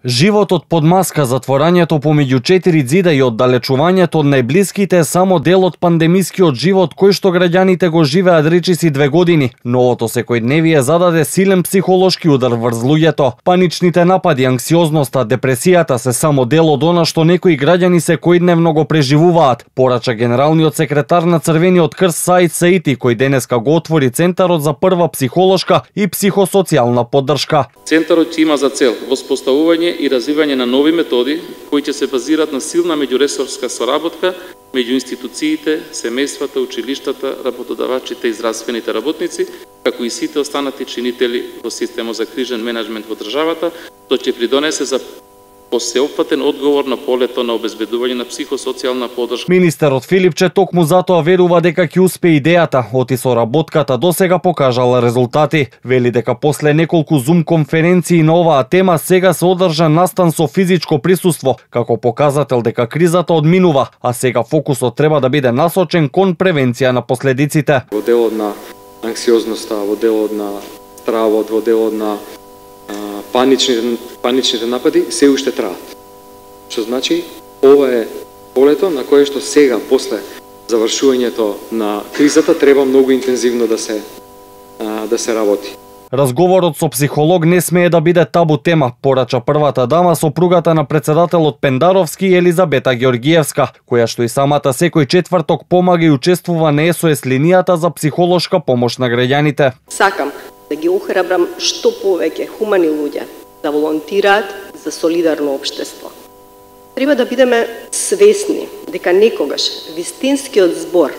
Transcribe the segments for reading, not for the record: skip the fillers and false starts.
Животот под маска, затворањето помеѓу 4 ѕида и оддалечувањето од најблиските е само дел од пандемискиот живот кој што граѓаните го живеат речиси 2 години. Новото секојдневие зададе силен психолошки удар врз луѓето. Паничните напади, анксиозноста, депресијата се само дел од она што некои граѓани секојдневно го преживуваат, порача генералниот секретар на Црвениот крст Саид Саити, кој денеска го отвори Центарот за прва психолошка и психосоцијална поддршка. Центарот има за цел воспоставување и развивање на нови методи кои ќе се базираат на силна меѓуресорска соработка меѓу институциите, семејствата, училиштата, работодавачите и здравствените работници, како и сите останати чинители во системот за кризен менеджмент во државата, што ќе придонесе за посеопфатен одговор на полето на обезбедување на психосоцијална поддршка. Министерот Филипче токму затоа верува дека ќе успее идејата, оти соработката досега покажала резултати. Вели дека после неколку Zoom конференции на оваа тема сега се одржа настан со физичко присуство, како показател дека кризата одминува, а сега фокусот треба да биде насочен кон превенција на последиците. Во делот на анксиозноста, во делот на стравот, во делот на паничните напади се уште траат. Што значи, ова е полето на кое што сега, после завршувањето на кризата, треба многу интензивно да се работи. Разговорот со психолог не смее да биде табу тема, порача првата дама, сопругата на председателот Пендаровски Елизабета Ѓорѓиевска, која што и самата секој четврток помага и учествува на SOS линијата за психолошка помош на граѓаните. Сакам да ги охрабрам што повеќе хумани луѓе да волонтираат за солидарно општество. Треба да бидеме свесни дека некогаш вистинскиот збор,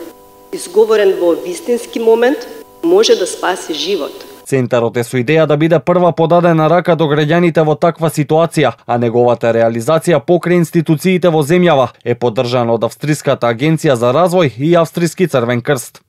изговорен во вистински момент, може да спаси живот. Центарот е со идеја да биде прва подадена рака до граѓаните во таква ситуација, а неговата реализација покрај институциите во земјава е поддржана од Австриската агенција за развој и Австриски Црвен крст.